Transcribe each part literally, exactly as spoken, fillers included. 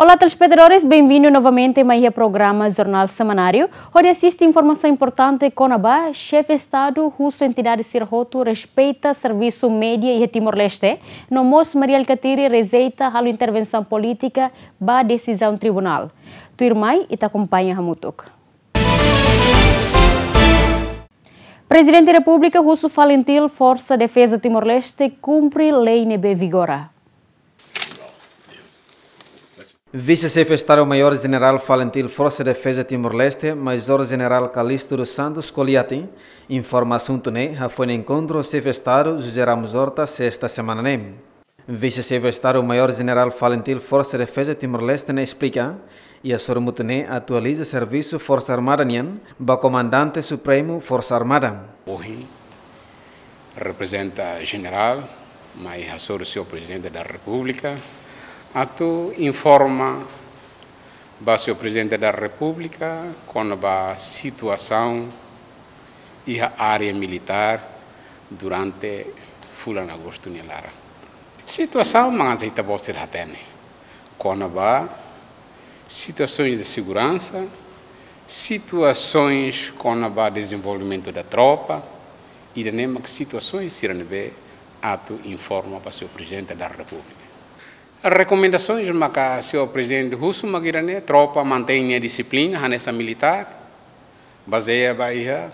Olá, telespetadores, benvindu novamente mai iha programa Jornál Semanáriu, hodi asiste informasaun importante kona-ba Xefe Estadu husu entidade sira hotu respeita servisu média iha Timor-Leste, no mós Mari Alkatiri rejeita halo intervensaun polítika ba desizaun tribunál. Tuirmai, ita akompaña hamutuk. Prezidente Repúblika husu FALINTIL Forsa Defeza Timor-Leste kumpre lei ne'ebé vigora. Vise-Xefe Estadu Maiór Jenerál FALINTIL Forsa Defeza Timor-Leste, Major Jenerál Calixto dos Santos Coliati, informa asuntu ne'e hafoin enkontru Xefe Estadu José Ramos Horta, sesta semana ne'e. Vise-Xefe Estadu Maiór Jenerál FALINTIL Forsa Defeza Timor-Leste ne'e esplika, iha sorumutu ne'e atualiza servisu Forsa Armada nian ba Komandante Supremu Forsa Armada. Ohin, reprezenta jenerál, mai hasoru Señór Prezidente da Repúblika, atu informa ba Señór Prezidente da Repúblika kona-ba situasaun iha área militár durante fulan agostu nia laran. Situasaun mak hanesan ita-boot sira hatene, kona-ba situasoens de seguransa, situasoens kona-ba dezenvolvimentu da tropa, ida-ne'e mak situasoens sira ne'ebé atu informa ba Señór Prezidente da Repúblika. Rekomendasoens maka Señór Prezidente husu mak ida-ne'e, tropa mantein nia dixiplina hanesan militár, bazeia ba iha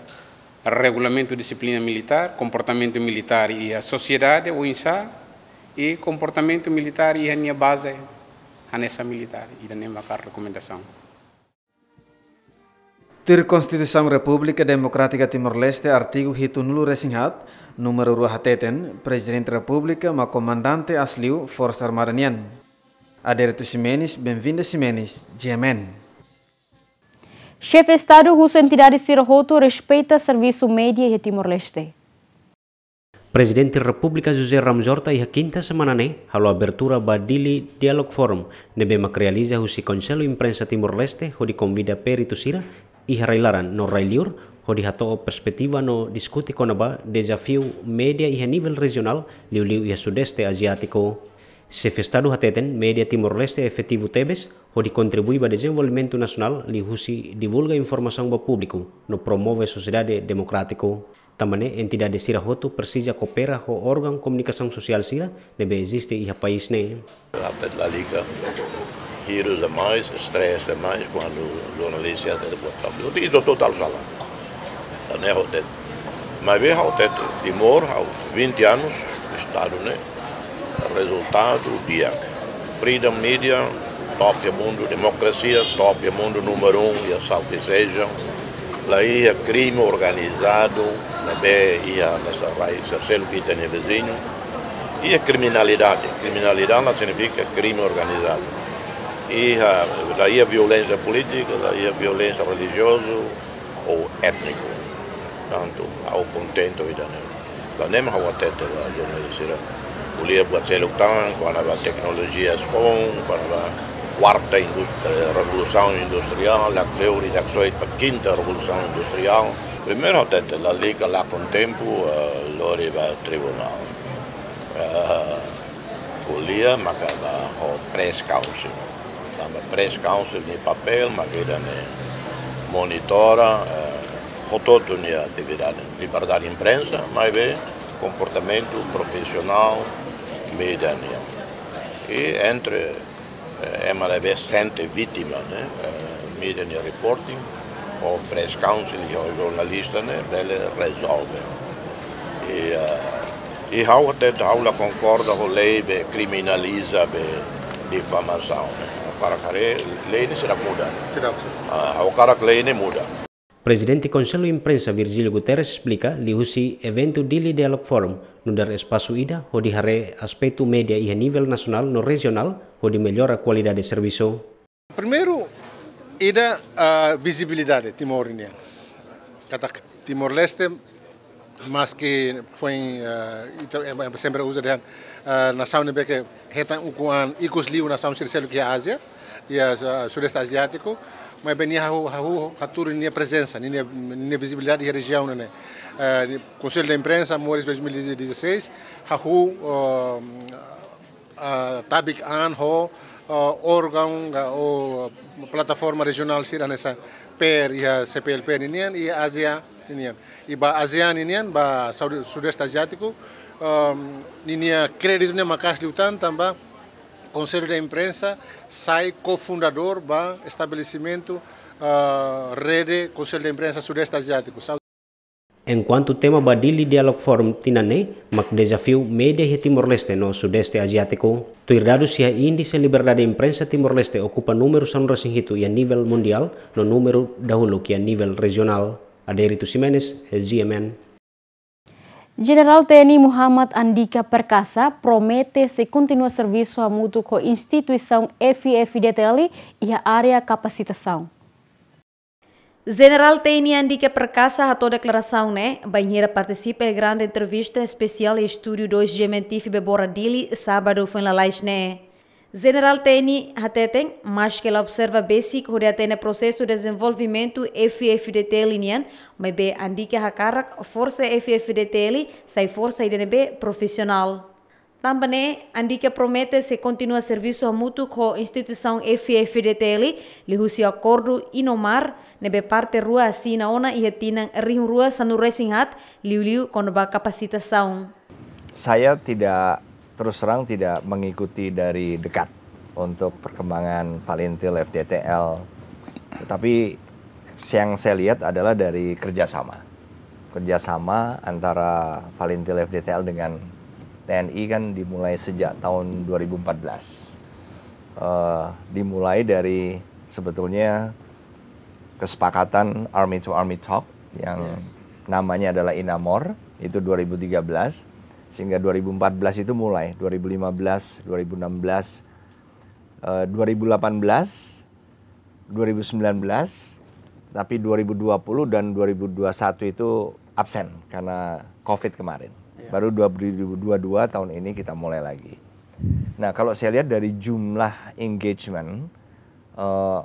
regulamentu dixiplina militár, komportamentu militár iha sosiedade oinsá, i komportamentu militár iha nia baze hanesan militár, ida-ne'e maka rekomendasaun. Tuir Konstituisaun Repúblika Demokrátika Timor-Leste, artigu hitunulu-resin-haat, númeru rua hateten, Prezidente Repúblika mak komandante asliu Forsa Armada nian. Adérito Ximenes, Benvinda Ximenes, G M N. Xefe Estadu husu entidade sira hotu respeita servisu média iha Timor-Leste. Prezidente Repúblika José Ramos Horta iha kinta semana ne'e halo abertura ba Dili Dialogue Forum, ne'ebé mak realiza husi Konsellu Imprensa Timor-Leste hodi konvida peritu sira iha rai-laran no rai-liur, hodi hato'o perspetiva no diskute kona-ba dezafiu média iha nivel rejionál, liuliu iha Sudeste Aziátiku. Xefe Estadu hateten média Timor-Leste efetivu tebes hodi kontribui ba dezenvolvimentu nasionál liuhusi divulga informasaun ba públiku no promove sosiedade demokrátiku. Tanba ne'e entidade sira hotu presiza koopera ho órgaun komunikasaun sosiál sira ne'ebé eziste iha país ne'e. Rapet lalika, hirus demais, stress demais, kuandu jornalista atu buat tablet. Itu total salah. Tan ne'e hotu. Maibé hotu, Timor, ha'u vinte anos, Estadu ne'e, rezultadu di'ak. Freedom Media, top iha mundu, demokrasia, top iha mundu, númeru um iha Southeast Asia. La iha krime organizadu, ne'ebé iha hanesan rai, terseiro que tem vizinho. Iha kriminalidade, kriminalidade la signifika krime organizadu. Iha, la iha violénsia polítika, la iha violénsia relijiozu ou étniku. Tantu, ha'u kontente ho ida-ne'e. Tan ne'e mak ha'u hatete ba jornalista sira. Ko'alia buat seluk tan, kona-ba teknolojia foun, kona-ba kuarta indust-, eh, revolusaun industriál, la kleur ida-ne'e soe ba kinta revolusaun industriál. Primeiru hatete, lalika lakon tempu, eh, lori ba tribunál. Eh, ko'alia maka ba ho press council. Tanba press council nia papél mak ida-ne'e monitora, eh, hotu-hotu nia atividade. Liberdade imprensa, maibé komportamentu profisionál média nian. I entre, eh, ema ne'ebé sente vítima, ne'e, eh, média nia reporting, ho press council, ho jornalista, ne'e, bele rezolve. I, eh, i ha'u hatete, ha'u la konkorda ho lei be kriminaliza be difamasaun, ne'e. Ha'u hakarak lei ne'e seidauk muda. Seidauk, seidauk. Ah, ha'u hakarak lei ne'e muda. Prezidente Konsellu Imprensa Virgílio Guterres esplika liuhusi eventu Dili Dialogue Forum, nu'udar espasu ida hodi haree aspetu média iha nivel nasionál no rejionál hodi mellora kualidade servisu. Primeiru, ida, ah, vizibilidade Timor nian. Katak Timor-Leste, maski foin, ah, ita, em, em, sempre uza dehan, ah, nasaun ne'ebé ke hetan ukun an ikus liu nasaun sira seluk iha Ázia, iha, ah, Sudeste Aziátiku, maibé nia hahú, hahú hatudu nia prezensa, nia, nia vizibilidade iha rejiaun ne'e. Ah, Konsellu de Imprensa, moris dois mil e dezasseis, hahú, ah, ah, tabik an ho, eh, órgaun ka, ou plataforma rejionál sira hanesan P R iha C P L P ninian, iha ASEAN ninian. I ba ASEAN ninian, ba Saudi-, Sudeste Aziátiku, ehm, ninia kréditu ne'e maka'as liután tanba Konsellu de Imprensa sai kofundadór ba estabelesimentu, eh, rede Konsellu de Imprensa Sudeste Aziátiku. Enkuantu tema ba Dili Dialogue Forum tinan ne'e mak dezafiu média iha Timor-Leste no Sudeste Aziátiku, tuir dadus iha índise liberdade imprensa Timor-Leste okupa númeru sanulu-resin-hitu iha nivel mundiál no númeru dahuluk iha nivel rejionál. Adérito Ximenes, G M N. Jenerál T N I Muhammad Andika Perkasa promete sei kontinua servisu hamutuk ho instituisaun F I F D T L iha área kapasitasaun. Jenerál T N I Andika Perkasa hato'o deklarasaun ne'e bainhira partisipa iha grande entrevista espesiál iha estúdiu dois G M N T V Bebora Dili, sábadu foin lalais ne'e. Jenerál T N I hateten, maske la observa besik hodi hatene prosesu dezenvolvimentu F I F D T L nian, maibé Andika hakarak forsa F I F D T L sai forsa ida ne'ebé profisionál. Tanba ne'e, Andika promete sei kontinua servisu hamutuk ho instituisaun F I F D T L, liuhusi akordu INOMAR, ne'ebé parte rua asina ona iha tinan rihun rua sanulu-resin-haat, liuliu kona-ba kapasitasaun. Saya tidak, terus terang tidak mengikuti dari dekat untuk perkembangan Falintil F D T L. Tetapi yang saya lihat adalah dari kerjasama. Kerjasama antara Falintil F D T L dengan T N I kan dimulai sejak tahun dua ribu empat belas. Eh, dimulai dari sebetulnya kesepakatan Army to Army Talk yang Yes. namanya adalah INAMOR, itu dua ribu tiga belas, sehingga dua ribu empat belas itu mulai, dua ribu lima belas, dua ribu enam belas, eh, dua ribu delapan belas, dua ribu sembilan belas, tapi dua ribu dua puluh dan dua ribu dua puluh satu itu absen karena covid kemarin. Iya. Baru dua ribu dua puluh dua tahun ini kita mulai lagi. Nah, kalau saya lihat dari jumlah engagement, eh,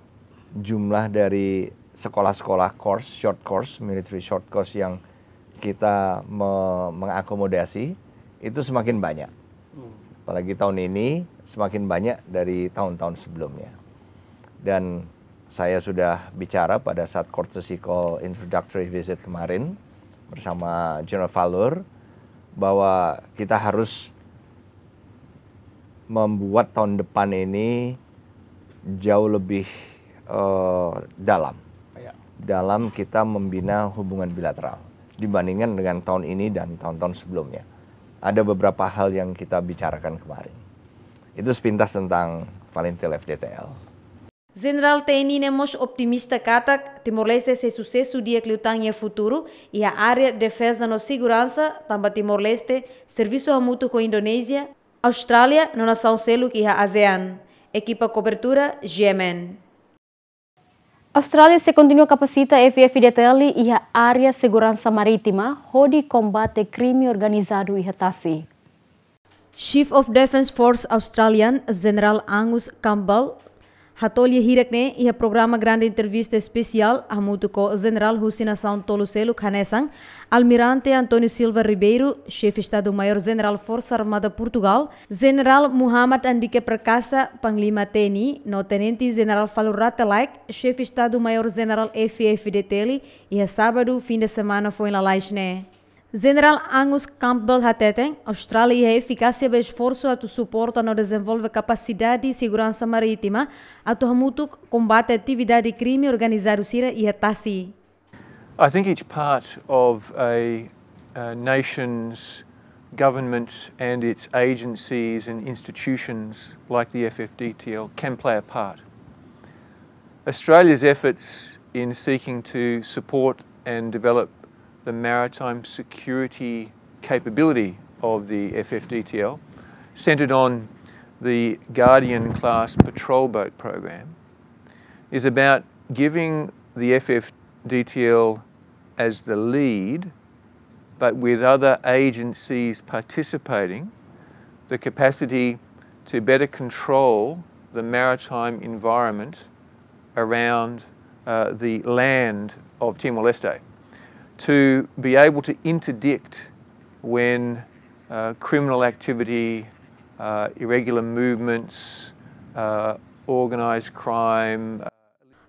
jumlah dari sekolah-sekolah course, short course, military short course yang kita me-, mengakomodasi itu semakin banyak. Hmm. Apalagi tahun ini semakin banyak dari tahun-tahun sebelumnya. Dan saya sudah bicara pada saat courtesy call introductory visit kemarin bersama General Falur bahwa kita harus membuat tahun depan ini jauh lebih, eh, dalam. Ya. Dalam kita membina hubungan bilateral dibandingkan dengan tahun ini dan tahun-tahun sebelumnya. Ada beberapa hal yang kita bicarakan kemarin. Itu sepintas tentang Falintil F D T L. Jenerál T N I ne'e mós optimista katak Timor-Leste sei susesu di'ak liután iha futuru iha área defeza no seguransa, tanba Timor-Leste servisu hamutuk ho Indonézia, Austrália no nasaun seluk iha ASEAN. Ekipa kobertura, G M N. Austrália sei kontinua kapasita F I F D T L iha área seguransa marítima hodi kombate krime organizadu iha tasi. Chief of Defence Force Australian, Jenerál Angus Campbell, hato'o lia hirak-ne'e iha programa grande entrevista espesiál hamutuk ho jenerál husi nasaun tolu seluk hanesan Almirante António Silva Ribeiro, Xefe Estadu-Maiór Jenerál Forsa Armada Portugál, Jenerál Muhammad Andika Perkasa, Panglima T N I, no Tenente Jenerál Falur Rate Laek, Xefe Estadu-Maiór Jenerál F I F D T L, iha sábadu fin de semana foin lalais ne'e. Jenerál Angus Campbell hateten, Austrália iha efikásia ba esforsu atu suporta no dezenvolve kapasidade seguransa marítima atu hamutuk kombate atividade krime organizadu sira iha tasi. I think each part of a, uh, nation's government and its agencies and institutions like the F F D T L can play a part. Australia's efforts in seeking to support and develop the maritime security capability of the F F D T L, centred on the Guardian class patrol boat program, is about giving the F F D T L as the lead, but with other agencies participating, the capacity to better control the maritime environment around, uh, the land of Timor-Leste, to be able to interdict when, uh, criminal activity, uh, irregular movements, uh, organized crime.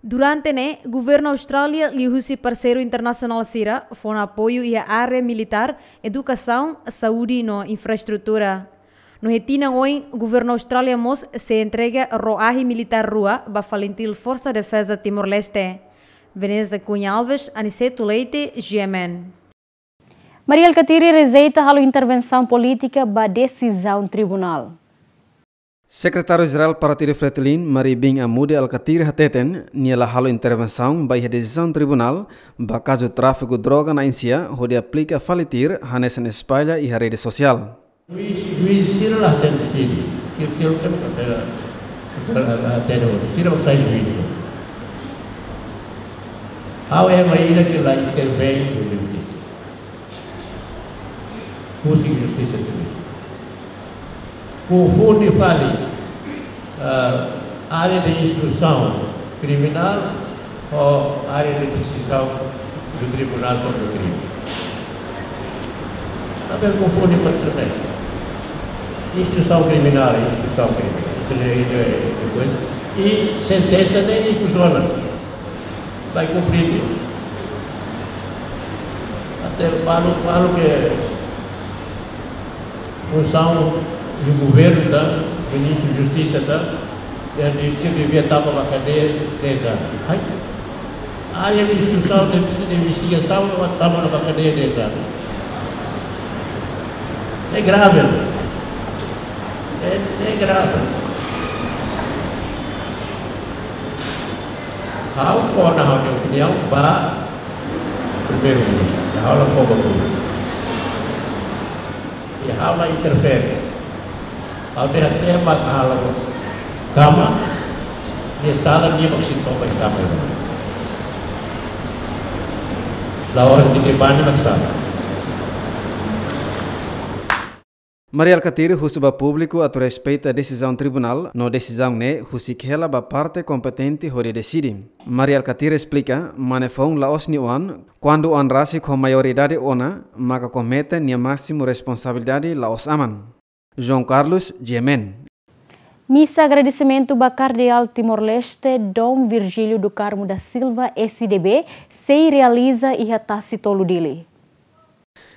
Durante ne'e, governu Austrália liuhusi parseiru internasionál sira fó ona apoiu iha área militár, edukasaun, saúde no infraestrutura. No iha tinan oin, governu Austrália mós sei entrega ró-ahi militár rua ba FALINTIL, Forsa Defeza Timor-Leste. Veneza Cunha Alves, Aniceto Leite, G M N. Mari Alkatiri rejeita halo intervensaun polítika ba desizaun tribunál. Sekretáriu Jerál Partidu FRETILIN, Mari Bin Amude Alkatiri hateten, nia la halo intervensaun ba iha desizaun tribunál ba kazu tráfiku droga na'in-sia hodi aplika FALINTIL hanesan espalla iha rede sosiál. Juís, juís sira la hatene sira, sira, sira la hatene, hatene, hatene, sira mak sai juís. Ha'u ema ida ke la intervein iha justisa. Husik justisa servisu. Konfunde fali, ah, área de instrusaun kriminál ho área de desizaun do tribunál sobre o crime. Tanba konfunde para tudo bem. Instrusaun kriminál, instrusaun kriminál. Isso é, é, é coisa. I sentensa ne'e ikus ona. Vai komprende. Até balu, balu ke funsaun governu ita, ministru justisa ita, nia devia tama ba kadeia dez anos. Ai, área de instrusaun, de, de investigasaun, tama ba kadeia dez anos. É grave. É, é grave. Ha'u fó ona ha'u-nia opiniaun ba Primeiru-Ministru. Ha'u la fó ba públiku. I ha'u la interfere. Ha'u dehan sé mak halo kama, nia sala, nia mak sei toba iha kama. La'ós nia debani mak sala. Mari Alkatiri husu ba públiku atu respeita desizaun tribunál, no desizaun ne'e husik hela ba parte kompetente hodi deside. Mari Alkatiri esplika, mane foun la'ós nia oan, kuandu oan rasik ho maioridade ona, maka komete nia másimu responsabilidade la'ós aman. João Carlos, G M N. Misa agradesimentu ba Kardeál Timor-Leste, Dom Virgílio do Carmo da Silva, S D B, sei realiza iha Tasi Tolu, Dili.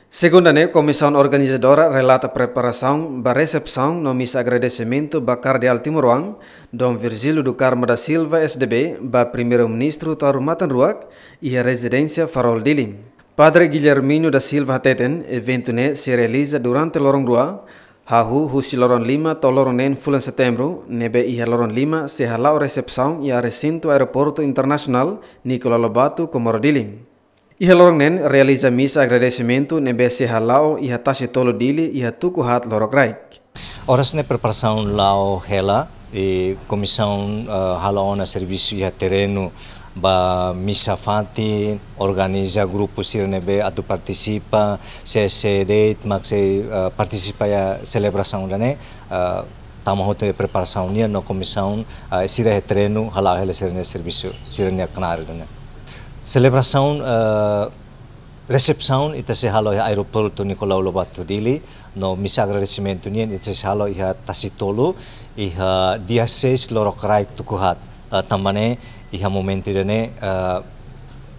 Segunda ne'e, komisaun organizadora relata preparasaun ba resepsaun no misa agradesimentu ba Kardeál timoroan, Dom Virgílio do Carmo da Silva, S D B, ba Primeiru-Ministru Taur Matan Ruak, iha rezidénsia Farol, Dili. Padre Guilhermino da Silva hateten, eventu ne'e sei realiza durante loron rua, hahú husi loron lima to'o loron neen fulan Setembru, ne'ebé iha loron lima sei hala'o resepsaun iha resintu Aeroportu Internasionál Nicolau Lobato, Comoro, Dili. Iha loron neen realiza misa agradesimentu ne'ebé sei hala'o iha Tasi Tolu, Dili, iha tuku haat lorokraik. Oras ne'e preparasaun la'o hela, i komisaun, eh, hala'o ona servisu iha terrenu ba misa fatin, organiza grupu sira ne'ebé atu partisipa, sé-sé de'it mak sei, eh, partisipa iha selebrasaun ida-ne'e, eh, tama hotu preparasaun nian no komisaun, eh, sira iha terrenu hala'o hela sira-nia servisu, sira-nia knaar ida-ne'e. Selebrasaun, eh, resepsaun ita sei halo iha Aeroportu Nicolau Lobato, Dili, no misa agradesimentu nian ita sei halo iha Tasi Tolu, iha dia seis lorokraik tuku haat. Eh, tanba ne'e, iha momentu ida-ne'e, eh,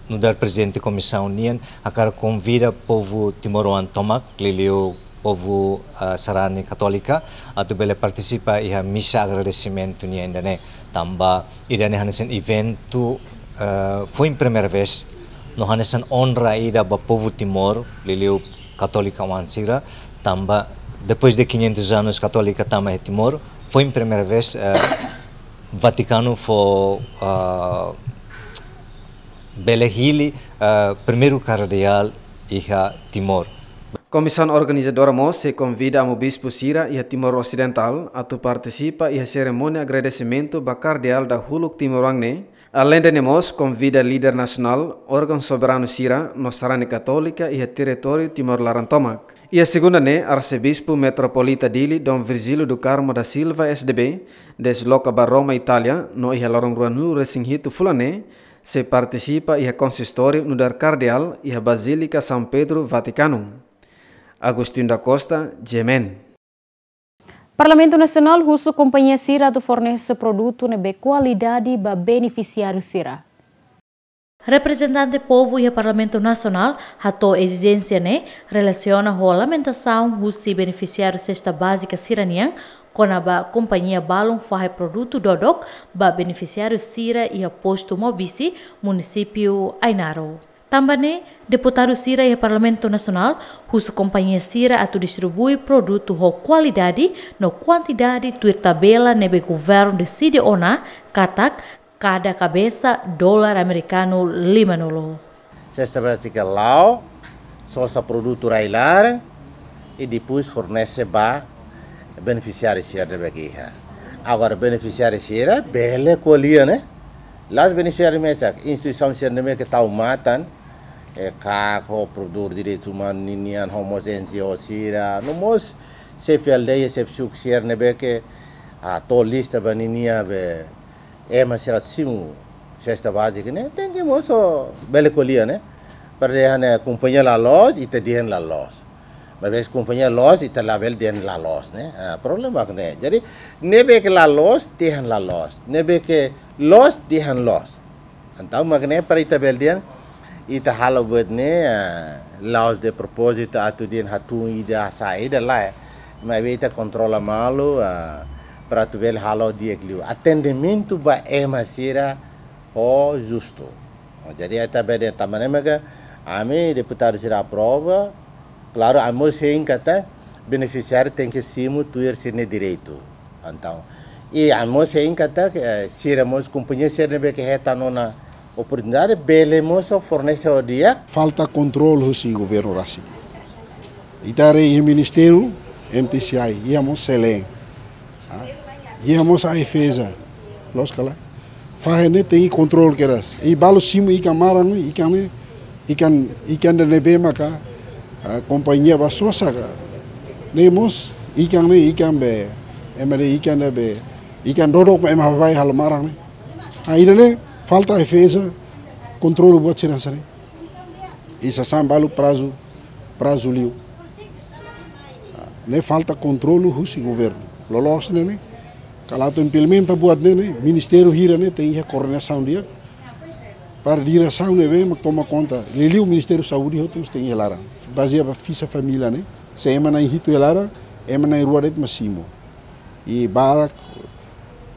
nu'udar prezidente komisaun nian hakarak konvida povu timoroan tomak, liuliu povu, eh, sarani katólika, atu bele partisipa iha misa agradesimentu nian ida-ne'e. Tanba ida-ne'e hanesan eventu, eh, foin primeira vez, no hanesan onra ida ba povu Timor, liuliu katólika oan sira, tanba depois de quinhentos anos katólika tama iha Timor, foin primeira vez, eh, Vatikanu fó, eh, bele hili, eh, primeiru kardeál iha Timor. Komisaun organizadora mós sei konvida amu bispu sira iha Timor Osidentál atu partisipa iha serimónia agradesimentu ba kardeál dahuluk timoroan ne'e. Aleinde ne'e mós konvida líder nasionál, órgaun soberanu sira no sarani katólika iha territóriu Timor laran tomak. Iha segunda ne'e, Arsebispu Metropolita Dili, Dom Virgílio do Carmo da Silva, S D B, desloka ba Roma, Itália, no iha loron ruanulu-resin-hitu fulan ne'e, sei partisipa iha konsistóriu nu'udar kardeál iha Bazílika São Pedro, Vatikanu. Agostinho da Costa, G M N. Parlamentu Nasionál husu kompañia sira atu fornese produtu ne'ebé kualidade ba benefisiáriu sira. Reprezentante povu iha Parlamentu Nasionál hato'o ezijénsia ne'e relasiona ho lamentasaun husi benefisiáriu sesta bázika sira-nian, kona-ba kompañia balun fahe produtu dodok ba benefisiáriu sira iha postu Maubisse, munisípiu Ainaro. Tanba ne'e, deputadu sira iha Parlamentu Nasionál husu kompañia sira atu distribui produtu ho kualidade no kuantidade tuir tabela ne'ebé governu deside ona, katak kada kabesa dolar amerikanu limanulu. Sesta bázika la'o, sosa produtu rai-laran, i depois fornese ba benefisiáriu sira ne'ebé ke iha. Agora, benefisiáriu sira bele ko'alia, ne'e? La'ós benefisiáriu mesak, instituisaun sira ne'ebé ke tau matan, e ka ho promotór direitus umanus ninian, ho mós N G O sira, no mós xefe aldeia, xefe suku sira ne'ebé ke, ah, tau lista ba ninia be, ema sira atu simu sesta bázika ne'e, tenke mós bele ko'alia, ne'e? Para dehan ne'e kompañia la loos, ita dehan la loos. Maibé se kompañia loos, ita labele dehan la loos, ne'e? Ah, problema ne'e. Jadi, ne'ebé ke la loos, dehan la loos. Ne'ebé ke loos, dehan loos. Entaun, mak ne'e para ita bele dehan, ita halo buat ne'e, ah, la'ós de propózitu atu dehan hatún ida, hasa'e ida, lae. Maibé ita kontrola malu, ah, para atu bele halo di'ak liu. Atendimentu ba ema sira ho justu. Jadi, ita bele dehan tanba ne'e maka ami deputadu sira aprova, klaru, ami mós hein katak benefisiáriu tenke simu tuir sira-nia direitu. Entaun, i ami mós hein katak, eh, sira mós kompañia sira ne'ebé ke hetan ona oportunidade bele mós fornese ho di'ak. Falta kontrolu husi governu rasik. Ita haree iha ministériu M T C I, iha mós SELEN. Ah, iha mós AIFAESA. Loos ka lae? Fahe ne'e tenke kontrolu kedas. I balu simu ikan maran ne'e, ikan ne'e, ikan, ikan ida ne'ebé maka, ah, kompañia bá sosa ka. Ne'e mós ikan ne'e, ikan be, ema dehan ikan ne'ebé, ikan dodok mak ema bá halo maran ne'e. Ah, ida-ne'e falta AIFAESA kontrolu buat sira hanesan ne'e. I sasán balu prazu, prazu liu. Ah, ne'e falta kontrolu husi governu. Loloos ne'e ne'e, kala atu implementa buat ne'e ne'e, ministériu hira ne'e tenke iha koordenasaun di'ak. Para diresaun ne'ebé mak toma konta. Liuliu Ministériu Saúde hotu mós tenke iha laran. Bazeia ba fixa família ne'e, se ema na'in hitu iha laran, ema na'in-rua de'it mak simu. I barak,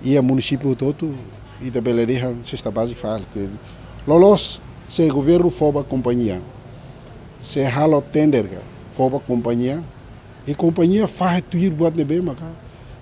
iha munisípiu hotu-hotu, ita bele dehan sesta bázika fali. Loloos, se governu fó ba kompañia, se halo tender ka, fó ba kompañia, i kompañia fahe tuir buat ne'ebé maka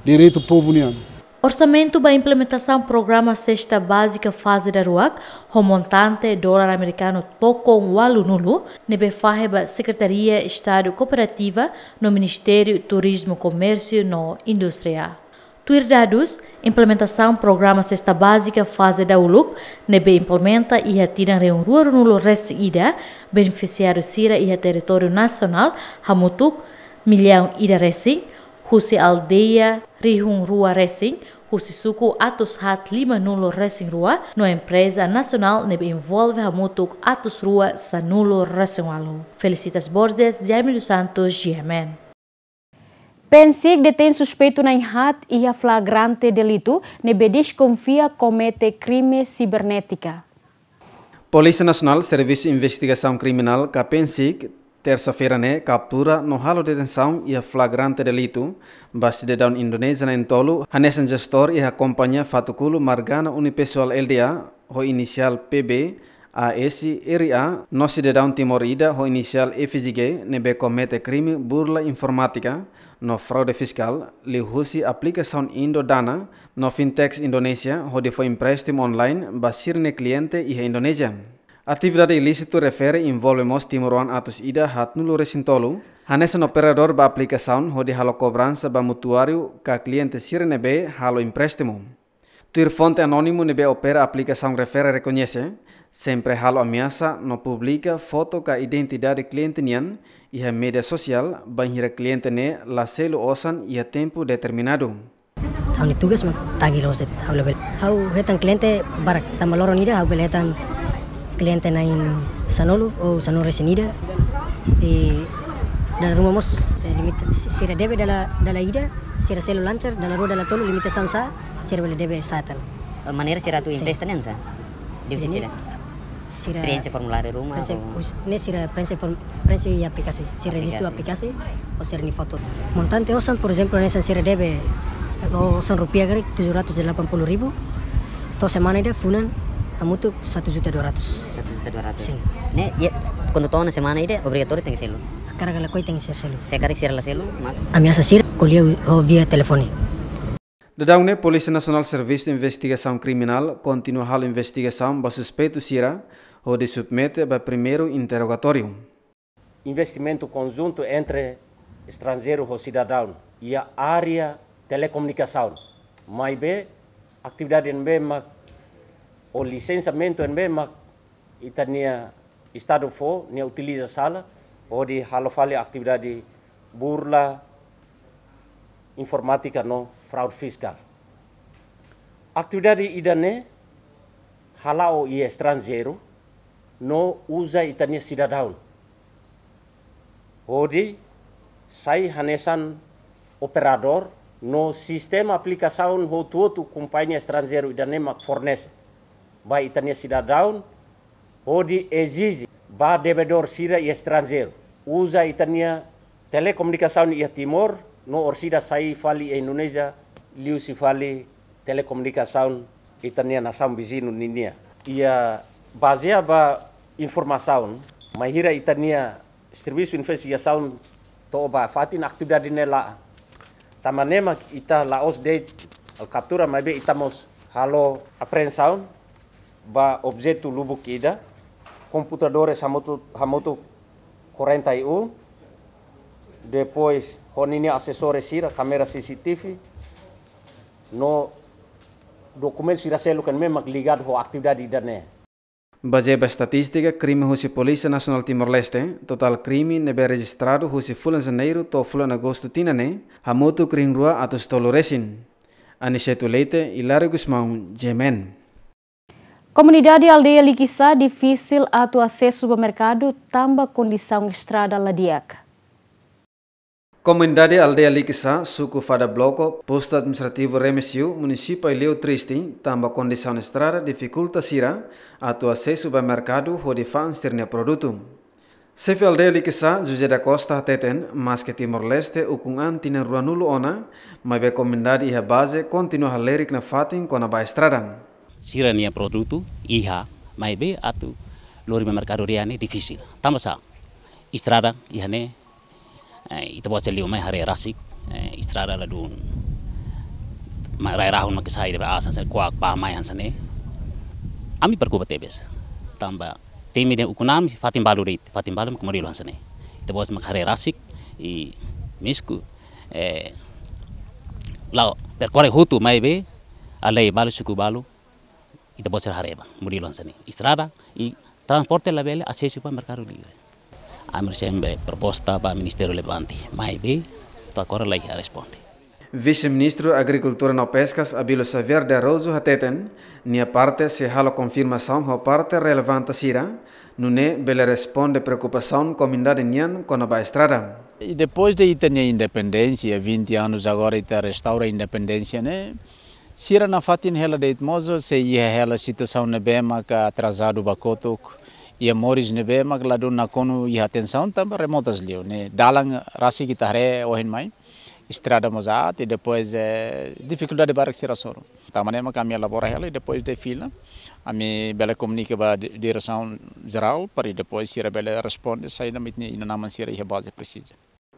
direitu povu nian. Orsamentu ba implementasaun programa sesta bázika faze daruak, ho montante dolar amerikanu tokon ualunulu, ne'ebé fahe ba Sekretaria Estadu Kooperativa no Ministériu Turizmu, Komérsiu no Indústria. Tuir dadus, implementasaun programa sesta bázika faze dahuluk, ne'ebé implementa iha tinan rihun rua ruanulu resin ida, benefisiáriu sira iha territóriu nasionál hamutuk millaun ida resin, husi aldeia rihun rua resin, husi suku atus haat limanulu resin rua, no empreza nasionál ne'ebé envolve hamutuk atus rua sanulu resin ualu. Felicitas Borges, Jaime dos Santos, G M N. PNCIC detein suspeitu na'in haat iha flagrante delitu, ne'ebé deskonfia komete krime sibernétika. Polísia Nasionál, Servisu Investigasaun Kriminál, ka PNCIC, tersa-feira ne'e kaptura no halo detensaun iha flagrante delitu ba sidadaun Indonézia na'in-tolu, hanesan jestór iha kompañia Fatukulu Margana Unipessoal Lda, ho inisiál P B, A S, R A, no sidadaun Timor ida ho inisiál F J G, ne'ebé komete krime burla informátika no fraude fiskál, liuhusi aplikasaun Indo Dana no fintechs Indonézia, hodi fó empréstimu online ba sira-nia kliente iha Indonézia. Atividade ilísitu refere envolve mós timoroan atus ida haatnulu resin tolu, hanesan operadór ba aplikasaun hodi halo kobransa ba mutuáriu ka kliente sira ne'ebé halo empréstimu. Tuir fonte anónimu ne'ebé opera aplikasaun refere rekoñese, sempre halo ameasa no publika foto ka identidade kliente nian iha média sosiál, bainhira kliente ne'e la selu osan iha tempu determinadu. Ha'u-nia tugas mak tagi loos de'it, ha'u labele. Ha'u hetan kliente barak, tanba loron ida ha'u bele hetan kliente na'in sanulu ou sanulu resin ida. I Dala ruma mós, se limita, se sira debe dala, dala ida, sira selu lancar, dala rua, dala tolu, limitasaun sa'e, sira bele debe sa'e tan. Eh, maneira sira atu Sin. Empresta ne'e, sa? Depois Jadi, sira sira preenxe formuláriu ruma preenxe, ou us-, ne'e sira preenxe form-, preenxe iha aplikasi. Sira rejistu Aplikasi. Aplikasi, ou sira-nia foto. Montante osan, por ezemplu, hanesan sira debe, osan rupiah karik tujuh ratus delapan puluh ribu. To'o semana ida, fulan, hamutuk satu juta dua ratus. Satu juta dua ratus. Sin. Ne'e, iha, kuandu to'o ona semana ida, obrigatóriu tenke selu? Karik lakohi tenke selu. Se karik sira la selu, mak? Ameasa sira, ko'alia ho via telefone. Daudaun ne'e, Polísia Nasionál Servisu Investigasaun Kriminál kontinua halo investigasaun ba suspeitu sira, hodi submete ba primeiru interrogatóriu. Investimentu konjuntu entre estranjeiru ho sidadaun iha área telekomunikasaun. Maibé, atividade ne'ebé mak, ou lisensiamentu ne'ebé mak ita-nia Estadu fó, nia utiliza sala, hodi halo fali atividade burla informátika no fraude fiskál. Atividade ida-ne'e hala'o iha estranjeiru, no uza ita-nia sidadaun hodi sai hanesan operadór no sistema aplikasaun hotu-hotu kompañia estranjeiru ida-ne'e mak fornese ba ita-nia sidadaun, hodi ezije ba devedór sira iha estranjeiru uza ita-nia telekomunikasaun iha Timor, no orsida sai fali iha Indonézia, liuhusi fali telekomunikasaun ita-nia nasaun viziñu ninia. Iha bazeia ba informasaun, bainhira ita-nia servisu investigasaun to'o ba fatin, atividade ne'e la'o. Tanba ne'e mak ita la'ós de'it kaptura, maibé ita mós halo apreensaun ba objetu lubuk ida, komputadores hamutuk, hamutuk quarenta e um, depois ho ninia asesores sira, kámera C C T V, no dokumentu sira seluk ne'ebé mak ligadu ho atividade ida-ne'e. Bazeia ba estatístika krime husi Polísia Nasionál Timor-Leste, totál krime ne'ebé rejistradu husi fulan Janeiru to'o fulan Agostu tinan ne'e, hamutuk rihun rua atus tolu resin. Aniceto Leite, Hilário Gusmão, G M N. Komunidade aldeia Likisá difisil atu asesu ba merkadu tanba kondisaun estrada la di'ak. Komunidade aldeia Likisá, suku Fada Bloco, postu administrativu Remexio, munisípiu Aileu triste, tanba kondisaun estrada difikulta sira atu asesu ba merkadu hodi fa'an sira-nia produtu. Xefe aldeia Likisá, José da Costa, hateten, maske Timor-Leste ukun an tinan ruanulu ona, maibé komunidade iha baze kontinua halerik nafatin kona-ba estrada. Sira-nia produtu iha, maibé atu lori ba merkadu ria ne'e difisil. Tanba sá, estrada iha ne'e, eh, ita-boot sira liu mai haree rasik, eh, estrada ladún, ma rai rahun mak sai de'it ba aas hanesan ne'e, kuak bá mai hanesan ne'e. Ami preokupa tebes. Tanba temi dehan ukun an fatin balu de'it, fatin balu mak modelu hanesan ne'e. Ita-boot mak haree rasik, i misku, eh, la'o perkorre hotu maibé, aldeia balu, suku balu, ita-boot sira haree ba, modelu hanesan ne'e. Estrada, i transporte labele asesu ba merkadu livre. Ami sempre proposta ba ministériu relevante, maibé, to'o agora la iha responde. Vise-Ministru Agrikultura no Peskas, Abílio Xavier de Araújo, hateten, nia parte sei halo konfirmasaun ho parte relevante sira, nune'e bele responde preokupasaun komunidade nian kona-ba estrada. I depois de ita-nia independénsia, vinte anos agora ita restaura independénsia ne'e, sira nafatin hela de'it mós sei iha hela situasaun ne'ebé maka atrasadu ba kotuk, iha moris ne'ebé maka ladún nakonu iha atensaun tanba remotas liu ne'e. Dalan rasik ita haree ohin mai, estrada mós aat, i depois, eh, difikuldade barak sira hasoru. Tanba ne'e mak ami elabora hela, i depois de fila, ami bele komunika ba di-, diresaun jerál, para depois sira bele responde, saida mak ita-nia inan-aman sira iha baze presiza.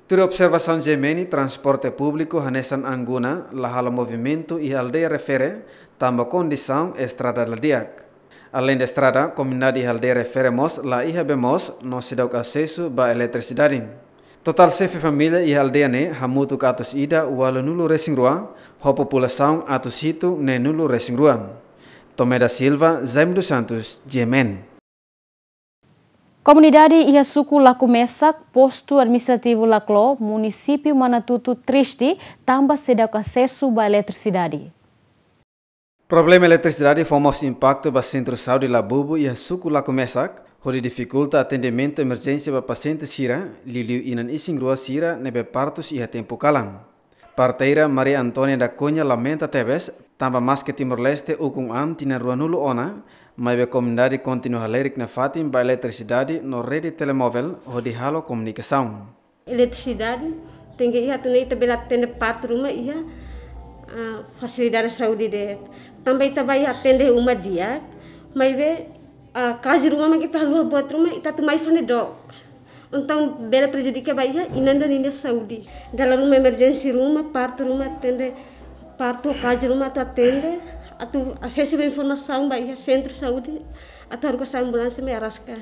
Tuir observasaun G M N, transporte públiku hanesan anguna la halo movimentu iha aldeia refere, tanba kondisaun estrada la di'ak. Aleinde estrada, komunidade iha aldeia refere mós la iha bee moos no seidauk asesu ba eletrisidade. Totál xefe família iha aldeia ne'e hamutuk atus ida ualunulu resin rua, ho populasaun atus hitu neenulu resin rua. Tomé da Silva, Jaime dos Santos, G M N. Komunidade iha suku Lakumesak, postu administrativu Laklo, munisípiu Manatutu triste, tanba seidauk asesu ba eletrisidade. Problema eletrisidade fó mós impaktu ba sentru saúde Labubu iha suku Lakumesak, hodi difikulta atendimentu emerjénsia ba pasiente sira, liuliu inan isin-rua sira ne'ebé partus iha tempu kalan. Parteira Maria Antónia da Cunha lamenta tebes, tanba maske Timor-Leste ukun an tinan ruanulu ona, maibé komunidade kontinua halerik nafatin ba eletrisidade no rede telemóvel hodi halo komunikasaun. Eletrisidade, tenke iha atu nune'e ita bele atende partu ruma iha, ah, fasilidade saúde de'it. Tanba ita bá iha atende uma di'ak, maibé, ah, kazu ruma mak ita haluha buat ruma, ita atu mai fó ne'e dook. Entaun bele prejudika ba iha inan ida ninia saúde. Dala ruma emerjénsia ruma, partu ruma atende, partu kazu ruma atu atende, atu asesu ba informasaun ba iha sentru saúde, atu haruka sai ambulánsia mai araska.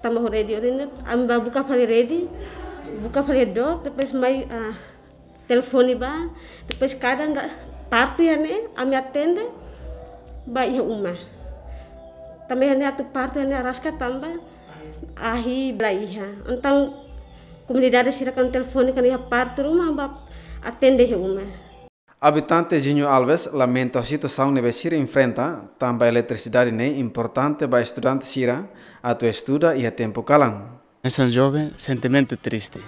Tanba ho rede orin ne'e, ami bá buka fali rede, buka fali dook, depois mai, ah, telefone bá, depois kadang ida partu iha ne'e, ami atende ba iha uma. Tanba iha ne'e atu partu iha ne'e araska tanba ahi la iha. Entaun komunidade sira kan telefone kan iha partu ruma bá atende iha uma. Abitante Zinho Alves lamenta situasaun ne'ebé sira enfrenta, tanba eletrisidade ne'e importante ba estudante sira atu estuda iha tempu kalan. Hanesan joven, sentimentu triste.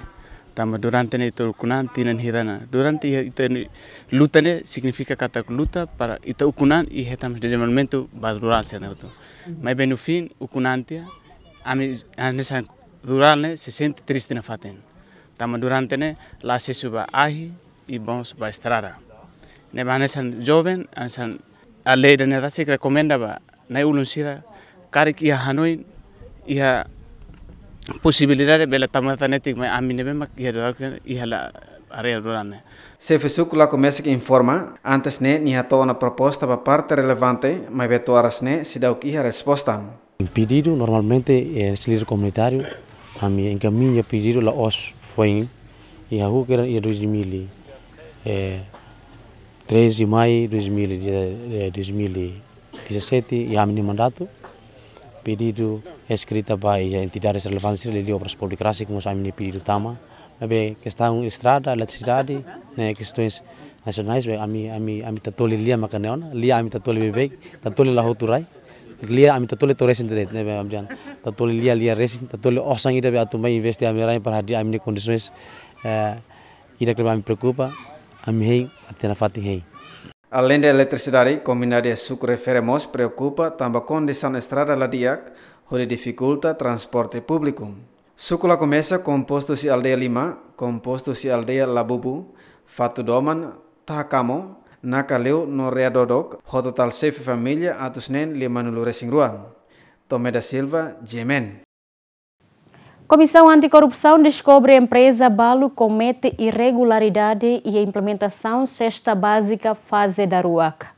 Tanba durante ne'e ita ukun an tinan ida ona. Durante ita, ita luta ne'e signifika katak luta para ita ukun an i hetan dezenvolvimentu ba rurál sira ne'e hotu. Maibé no fim, ukun an tiha, ami hanesan rurál ne'e sei sente triste nafatin. Tanba durante ne'e la asesu ba ahi, i mós ba estrada. Ne'ebé hanesan joven, hanesan aldeia ne'e rasik rekomenda ba na'i-ulun sira, karik iha hanoin, iha posibilidade bele tama tan netik mai ami ne'ebé mak iha doar iha la área rurál ne'e. Xefe suku Laku Mesik informa, antes ne'e nia hato'o ona proposta ba parte relevante, maibé to'o oras ne'e seidauk iha resposta. Pedidu normalmente, eh, líder komunitáriu, ami enkamiña pedidu la'ós foin, iha ha'u kira iha dois mil e treze mai dois mil e dezassete, iha ami-nia mandatu. Pedidu eskrita ba iha entidades relevantes liuliu Obras Públikas, rasik mós ami-nia pedidu tama. Maibé kestaun estrada, eletrisidade, ne'e kestaun nasionál, be ami, ami, ami tatoli lia maka ne'e ona, lia ami tatoli beibeik, tatoli la hotu rai, lia ami tatoli to'o resin de'it, ne'ebé ami dehan, tatoli lia, lia resin, tatoli osan ida be atu mai investe ami-nia rain para hadi'a ami-nia kondisaun, eh, ida-ne'ebé ami preokupa, ami hein, até nafatin hein. Aleinde eletrisidade, komunidade suku refere mós preokupa tanba kondisaun estrada la di'ak, hodi difikulta transporte públiku. Suku Laku Mesik kompostu husi aldeia lima, kompostu husi aldeia Labubu, Fatudoman, Taha Kamo, Nakaleu no Readodok, ho totál xefe família atus neen limanulu resin rua. Tomé da Silva, G M N. Komisaun Anti-Korrupsaun deskobre empreza balu komete irregularidade iha implementasaun sesta bázika faze daruak.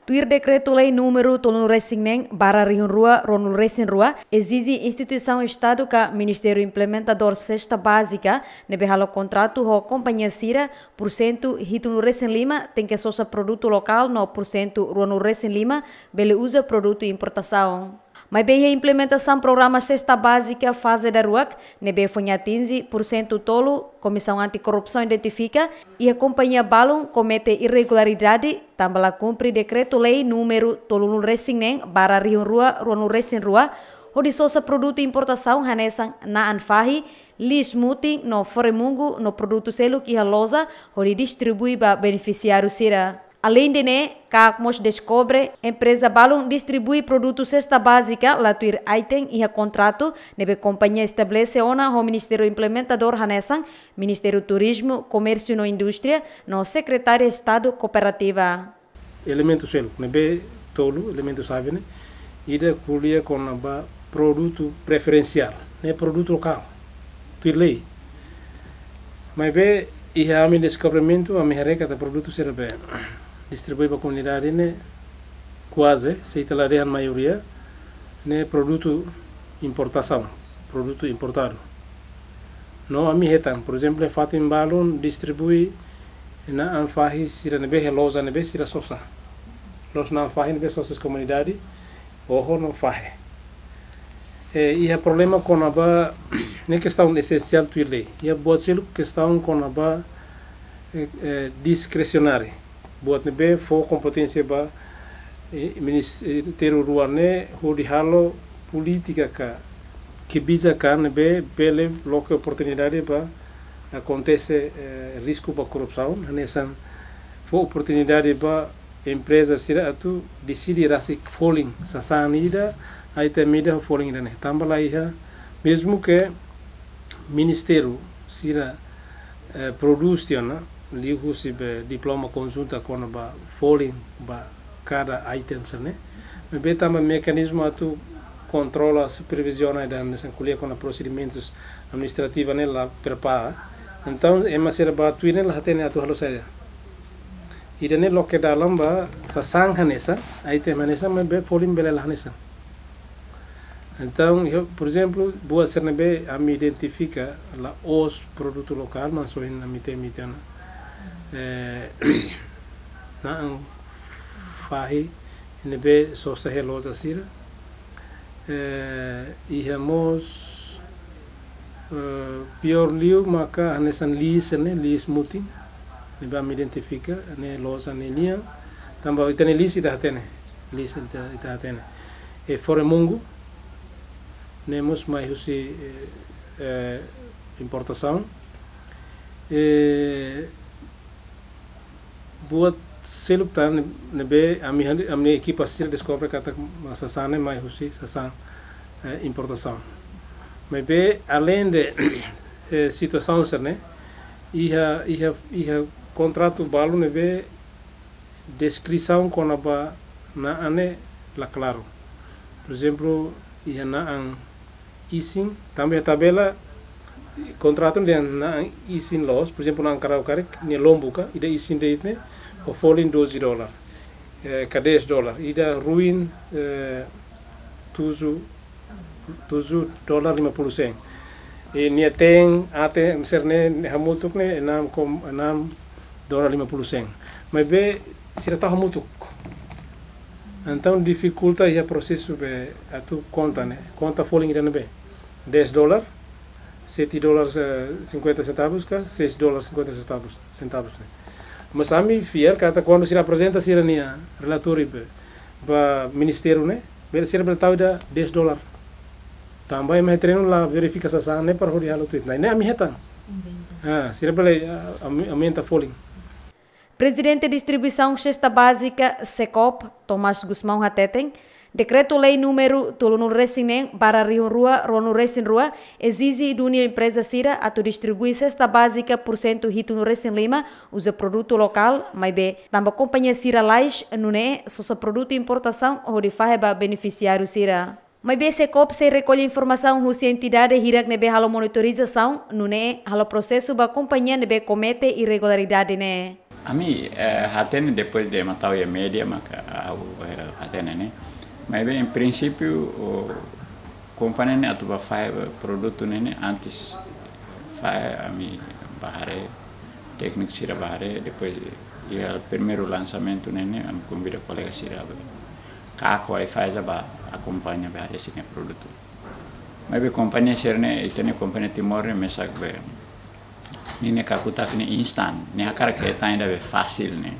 Tuir Dekretu-Lei númeru tolunulu resin neen barra rihun rua ruanulu resin rua, ezije instituisaun Estadu ka Ministériu Implementadór sesta bázika ne'ebé halo kontratu ho kompañia sira, pursentu hitunulu resin lima tenke sosa produtu lokál no pursentu ruanulu resin lima bele uza produtu importasaun. Maibé iha implementasaun programa sesta bázika faze daruak ne'ebé foin atinje pursentu tolu, Komisaun Anti-Korrupsaun identifika iha kompañia balun komete irregularidade tanba la kumpre Dekretu-Lei númeru tolunulu resin neen barra rihun rua ruanulu resin rua, hodi sosa produtu importasaun hanesan na'an fahi, liis mutin no fore-mungu no produtu seluk iha loja hodi distribui ba benefisiáriu sira. Aleinde ne'e, KAK mós deskobre empreza balun distribui produtu sesta bázika la tuir item iha kontratu ne'ebé kompañia estabelese ona ho Ministériu Implementadór hanesan Ministériu Turizmu, Komérsiu no Indústria no Sekretaria Estadu Kooperativa. Elementu seluk ne'ebé tolu, elementu xave ne'e, ida ko'alia kona-ba produtu preferensiál, ne'e produtu lokál, tuir lei. Maibé iha ami deskobrimentu, ami haree katak produtu sira be distribui ba komunidade ne'e kuaze, se ita la dehan maioria, ne'e produtu importasaun, produtu importadu. No ami hetan, por ezemplu, fatin balun distribui na'an fahi sira ne'ebé iha loja ne'ebé sira sosa. Loos na'an fahi ne'ebé sosa husi komunidade, oho no fahe. E, iha problema kona-ba, ne'e kestaun esensiál tuir lei. Iha buat seluk kestaun kona-ba, e, e, diskresionáriu. Buat ne'ebé fó kompeténsia ba, e, ministériu rua ne'e hodi halo polítika ka kebijakan ne'ebé bele loke oportunidade ba akontese, eh, risku ba korrupsaun, hanesan fó oportunidade ba empreza sira atu deside rasik folin sasán ida, item ida ho folin ida ne'e. Tanba la iha, mezmu ke ministériu sira, eh, prodús tiha ona, liuhusi be diploma konjunta kona-ba folin ba kada item sira-ne'e. Maibé tanba mekanizmu atu kontrola, superviziona ida hanesan ko'alia kona prosedimentus administrativa ne'e la prepara. Entaun, ema sira ba tuir ne'e la hatene atu halo saida. Ida-ne'e loke dalan ba sasán hanesan, item hanesan, maibé folin bele la hanesan. Entaun, iha, por ezemplu, buat sira ne'ebé ami identifika la'ós produtu lokál, mas ohin ami temi tiha ona, eh, na'an fahi ne'ebé sosa iha loja sira. Eh, iha mós, eh, piór liu maka hanesan lis ne'e, lis mutin, ne'ebé ami identifika, ne'e loja ne'e nian, tanba ita-nia lis ita hatene, lis ita, ita hatene. E foremungu, ne'e mós mai husi, eh, eh, importasaun. Eh, buat seluk tan ne'ebé ami han-, ami ekipa sira deskobre katak sasán ne'e mai husi sasán, eh, importasaun. Maibé aleinde, eh, situasaun sira-ne'e, iha, iha, iha kontratu balu ne'ebé deskrisaun kona-ba na'an ne'e la klaru. Por ezemplu, iha na'an isin, tanba iha tabela kontratu dehan na'an isin loos, por ezemplu, na'an karau karik, nia lombu ka, ida isin de'it ne'e, ho folin doze dólar, eh, ka dez dólar, ida ruin, eh, tujuh, tujuh dólar lima puluh sen. I nia teen, aten sira-ne'e, hamutuk ne'e, enam kom-, enam dólar lima puluh sen. Maibé, sira tau hamutuk. Entaun, difikulta iha prosesu be atu konta ne'e, konta folin ida ne'ebé. Dez dólar, sete dólar, eh, cinquenta centavos ka, seis dólar cinquenta centavos, centavos ne'e. Mas ami fiar katak kuandu sira aprezenta sira-nia relatóriu be, ba ministériu ne'e, bele sira bele tau ida dez dólar. Tanba ema iha terrenu la verifika sasán ne'e para hodi halo tuir. Ne'e ami hetan. Inventa. Ah, sira bele, ah, aum-, aumenta folin. Prezidente Distribuisaun Sesta Bázika, SECOB, Tomás Gusmão hateten, Dekretu-Lei númeru tolunulu-resin-neen barra rihun rua ruanulu-resin-rua ezije duni empreza sira atu distribui sesta bázika pursentu hitunulu-resin-lima uza produtu lokál, maibé tanba kompañia sira lalais, nune'e sosa produtu importasaun hodi fahe ba benefisiáriu sira. Maibé SECOB sei rekolla informasaun husi entidade hirak ne'ebé halo monitorizasaun, nune'e halo prosesu ba kompañia ne'ebé komete irregularidade ne'e. Ami, eh, hatene depois de ema tau iha média maka ha'u, eh, hatene ne'e. Maibé, em princípio, o kompañia ne'e atu ba fahe produtu ne'e, ne'e antes fahe ami ba haree, tékniku sira ba haree, depois iha primeiru lansamentu ne'e, ne'e ami konvida kolega sira ba Caco, Aifasa ba akompaña ba haree sira-nia produtu. Maibé kompañia sira-ne'e, ita-nia kompañia Timor ne'e mesak be, ne'e, ne'e kakutak ne'e instan, ne'e hakarak hetan ida be fasil ne'e.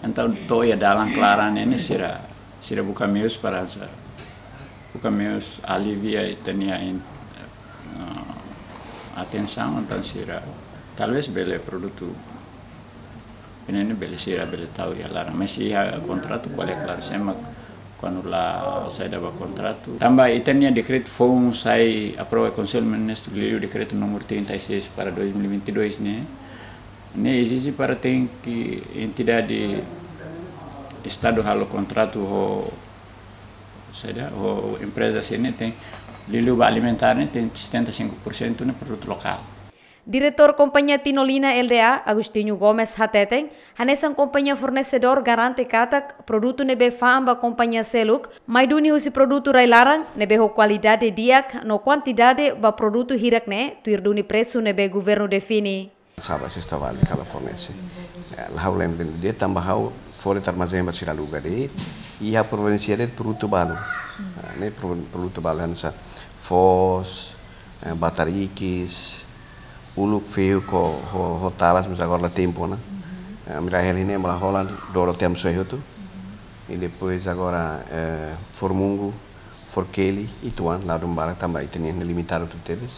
Entaun to'o iha dalan klaran ne'e, ne'e sira, sira buka meius para sa, buka meius alivia ita-nia in-, eh, atensaun, entaun sira talvés bele produtu ne'e, ne'e bele sira bele tau iha laran. Mas iha kontratu ko'alia klaru, se ema kuandu la saida ba kontratu. Tanba ita-nia dekretu foun sai aprova Konsellu Ministru liu, dekretu númeru trinta e seis para dois mil e vinte e dois ne'e. Ne'e ezije para tenke entidade Estadu halo kontratu ho, saida, ho empreza sira-ne'e tenke liuliu ba alimentár ne'e tenke setenta e cinco por cento ne'e produtu lokál. Diretór Kompañia Tinolina L D A, Agostinho Gomes hateten, hanesan kompañia fornesedór garante katak produtu ne'ebé fa'an ba kompañia seluk, mai duni husi produtu rai-laran, ne'ebé ho kualidade di'ak no kuantidade ba produtu hirak ne'e, tuir duni presu ne'ebé governu define. Saba sesta bázika la fornese. Eh, la ha'u lembra de tanba ha'u fora ita armazén ba sira aluga de'it, i ha'u providensia de'it produtu balu. Ah, ne'e pro-, produtu balu hanesan foos, eh, batarikis, uluk fehuk ho, ho, ho talas, mas agora la tempu ona. Eh, ami rai hela ne'e, ami la hola, doro temos só hotu. I depois agora, eh, foremungu, Forkeli, ituan, ladún barak tanba ita-nia limitadu tebes.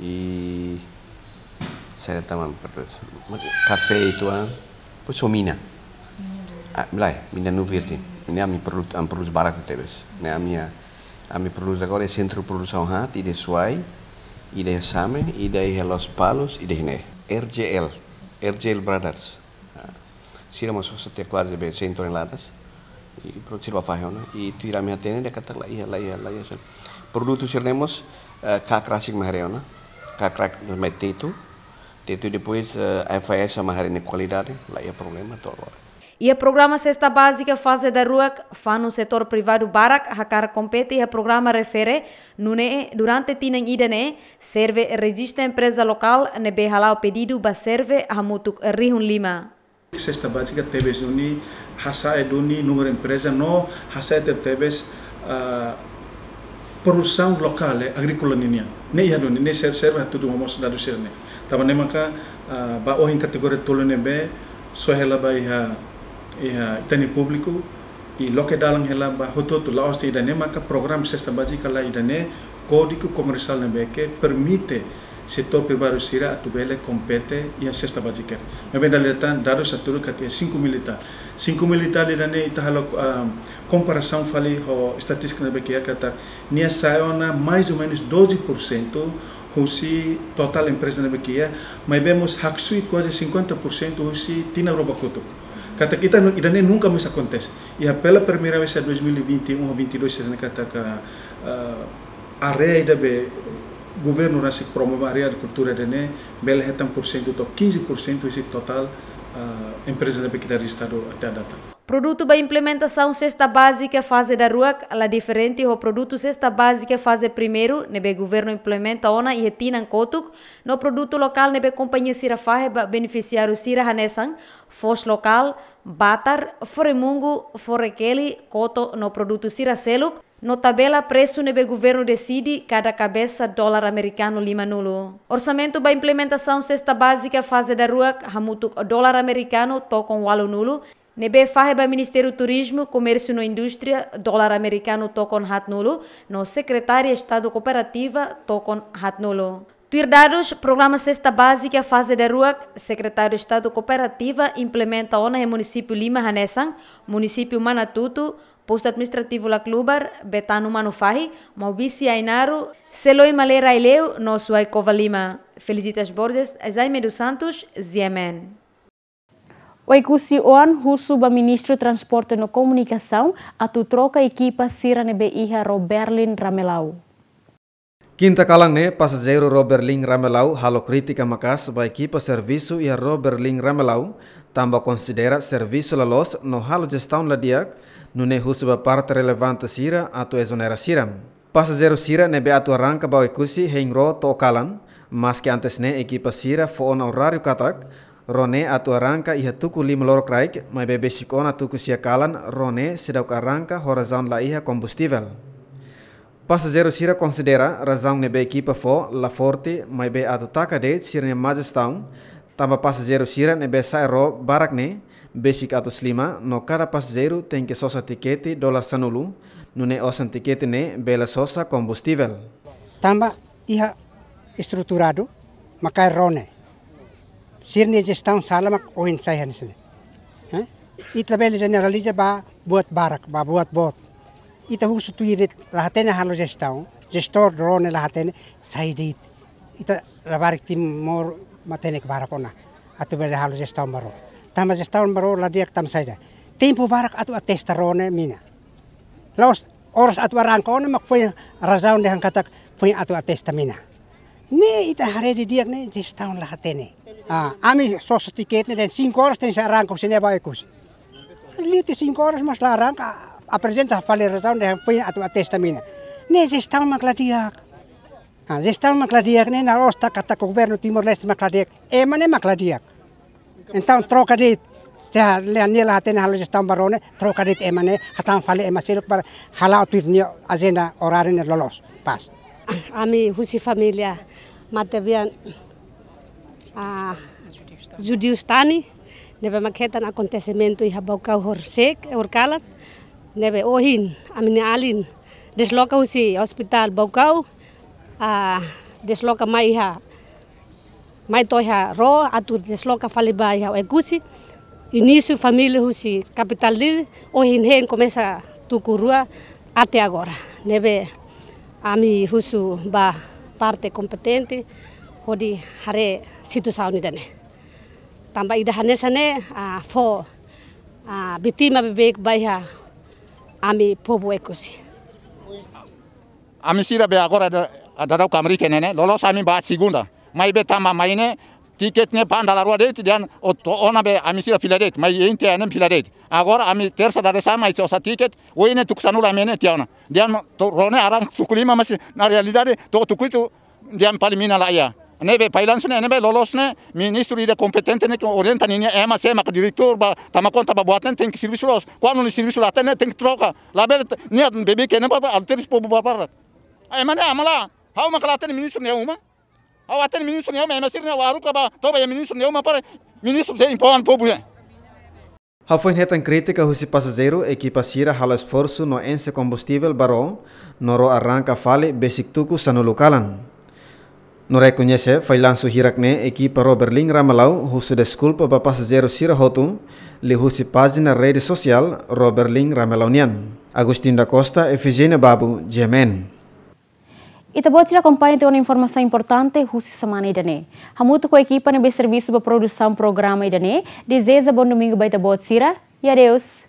I saida tan mak ami produz? Kafé ituan, depois mina. Ah, lae, mina-nuu virjen. Ne'e ami produ-, ami produz barak tebes. Ne'e ami, ami produz agora iha sentru produsaun haat, ida iha Suai, ida iha Same, ida iha Lospalos, ida iha ne'e. R J L, R J L Brothers. Ah, sira mós sosa tiha kuaze be cem toneladas. I prontu, sira bá fahe ona. I tuir ami hatene dehan katak laiha, laiha, laiha. Produtu sira-ne'e mós, eh, KAK rasik mak haree ona. KAK rasik mak haree tetu. Tetu depois, eh, F I S mak haree nia kualidade, laiha problema to'o agora. Iha programa Sesta Bázika faze daruak, fanun setór privadu barak hakarak kompete iha programa refere, nune'e durante tinan ida-ne'e, SERVE rejista empreza lokál ne'ebé hala'o pedidu ba SERVE hamutuk rihun lima. Sesta bázika tebes duni, hasa'e duni númeru empreza no hasa'e tebetebes, ah, produsaun lokál, eh, agríkola ninian. Ne'e iha duni, ne'e SER-, SERVE hatudu mós dadus sira-ne'e. Tanba ne'e maka, ah, ba ohin kategoria tolu ne'ebé soe hela ba iha, iha ita-nia públiku, i loke dalan hela ba hotu-hotu, la'ós de'it ida-ne'e maka programa Sesta Bázika, lae, ida-ne'e Kódigu Komersiál ne'ebé ke permite setór privadu sira atu bele kompete iha sesta bázika. Maibé dala ida tan dadus hatudu katak iha cinco mil e tal. Cinco mil e tal ida-ne'e ita halo, ah, komparasaun fali ho estatístika ne'ebé ke iha katak nia sa'e ona mais ou menus doze por cento husi totál empreza ne'ebé ke iha, maibé mós haksoit kuaze cinquenta por cento husi tinan rua ba kotuk. Katak ita nu-, ida-ne'e nunka mós akontese. Iha pela primeira vez iha dois mil e vinte e um ou vinte e dois, sira-ne'e katak, ah, área ida be governu rasik promove, área agrikultura ida-ne'e, bele hetan porsentu to'o quinze por cento husi totál, ah, empreza ne'ebé ke ita rejista até à data. Produtu ba implementasaun sesta bázika faze daruak la diferente ho produtu sesta bázika faze primeiru ne'ebé governu implementa ona iha tinan kotuk, no produtu lokál ne'ebé kompañia sira fahe ba benefisiáriu sira hanesan foos lokál, batar, fore-mungu, fore-keli, koto no produtu sira seluk, no tabela presu ne'ebé governu deside kada kabesa dolar amerikanu lima-nulu. Orsamentu ba implementasaun sesta bázika faze daruak hamutuk dolar amerikanu tokon ualu-nulu, ne'ebé fahe ba Ministériu Turizmu, Komérsiu no Indústria dolar amerikanu tokon haat-nulu, no Sekretária Estadu Kooperativa tokon haat-nulu. Tuir dadus, programa sesta bázika faze daruak, Sekretáriu Estadu Kooperativa implementa ona iha munisípiu lima hanesan, munisípiu Manatuto, Postu Administrativu Laclubar, Betano Manufahi, Maubisse Ainaro, Seloi Malera Aileu, no Suai Covalima. Felicitas Borges, Jaime dos Santos, G M N. Oekusi oan husu ba Ministru Transporte no Komunikasaun atu troka ekipa sira ne'ebé iha ró Berlin Ramelau. Kinta kalan ne'e, pasajeiru ró Berlin Ramelau halo krítika maka'as ba ekipa servisu iha ró Berlin Ramelau, tanba konsidera servisu la loos no halo jestaun la di'ak, nune'e husu ba parte relevante sira atu ezonera sira. Pasajeiru sira ne'ebé atu arranka ba Oekusi hein ró to'o kalan, maski antes ne'e ekipa sira fó ona oráriu katak, ró ne'e atu arranka iha tuku lima lorokraik, maibé besik ona tuku sia kalan, ró ne'e seidauk arranka ho razaun laiha kombustivel. Pasajeiru sira konsidera razaun ne'ebé ekipa fó la forte, maibé atu taka de'it sira-nia má jestaun, tanba pasajeiru sira ne'ebé sa'e ró barak ne'e, besik atus lima, no kada pasajeiru tenke sosa tikete dolar sanulu, nune'e osan tikete ne'e bele sosa kombustivel. Tanba iha estruturadu mak kaer ró ne'e. Sira-nia jestaun sala mak ohin sai hanesan ne'e. Hah? Ita labele jeneraliza ba buat barak, ba buat boot. Ita husu tuir de'it, la hatene halo jestaun, jestór ró ne'e la hatene, sai de'it. Ita labarik Timor matenek barak ona atu bele halo jestaun ba ró. Tanba jestaun ba ró la di'ak tanba saida? Tempu barak atu atesta ró ne'e mina. La'ós oras atu arranka ona mak foin razaun dehan katak foin atu atesta mina. Ne'e ita haree didi'ak ne'e jestaun la hatene. Ah, ami sosa tikete ne'e dehan cinco horas tenke arranka husi ne'e ba Oekusi. Leti cinco horas mas la arranka, aprezenta fali razaun dehan foin atu atesta mina. Ne'e jestaun mak la di'ak. Ah, jestaun mak la di'ak ne'e, la'ós taka katak governu Timor-Leste mak la di'ak. Ema ne'e mak la di'ak. Entaun troka de'it. Se nia la hatene halo jestaun ba ró ne'e, troka de'it ema ne'e, hatán fali ema seluk para hala'o tuir nia ajenda oráriu ne'e loloos. Pás. Ami husi família Matebian, ah, Judius Tani, ne'ebé mak hetan akontesimentu iha Baucau horisehik, horikalan, ne'ebé ohin, ami-nia alin, Desloka husi Hospital Baucau, ah, desloka mai iha, mai to'o iha ró, atu desloka fali ba iha Oekusi. Inísiu família husi kapitál Dili, ohin hein komesa tuku rua até agora. Ne'ebé ami husu ba parte kompetente hodi haree situasaun ida-ne'e. Tanba ida hanesan ne'e, ah, fó, ah, vítima beibeik ba iha ami povu Oekusi. Ami sira be agora da, da dau kamri ke ne'e, loloos ami ba segunda. Maibé tanba mai ne'e, tiket ne'e pan dala rua de'it, dehan o to'o ona be ami sira fila de'it. Mai inte ne'e fila de'it. Agora ami tersa dadeer-saan mai osan tiket, ohin ne'e tuku sanulu ami ne'e tiha ona. Dehan to'o ró ne'e aran tuku lima, mas na realidade to'o tuku hitu dehan fali mina laiha. Ne'ebé failansu ne'e, ne'ebé loloos ne'e, ministru ida kompetente ne'e ke orienta ninia ema, sé maka diretór ba tama konta ba buat ne'e, tenke servisu loos. Kuandu nia servisu la hatene, tenke troka. Labele nia beibeik ne'e ba, ba terus povu ba para. Ema ne'e amala, ha'u maka la hatene ministru nia uma. Ha'u hatene ministru nia uma, ema sira ne'e ha'u haruka ba, toba iha ministru nia uma para ministru sei impoan povu ne'e. Hafoin hetan krítika husi pasajeiru, ekipa sira halo esforsu no enxe kombustivel ba ró, no ró arranka fali besik tuku sanulu kalan. No rekoñese failansu hirak ne'e, ekipa Ró Berlin Ramelau husu deskulpa ba pasajeiru sira hotu, liuhusi pájina rede sosiál Ró Berlin Ramelau nian. Agostinho da Costa, Efigénia Babu, G M N. Ita-boot sira akompaña tiha ona informasaun importante husi semana ida-ne'e. Hamutuk ho ekipa ne'ebé servisu ba produsaun programa ida-ne'e, dezeja bom domingu ba ita-boot sira, e adeus.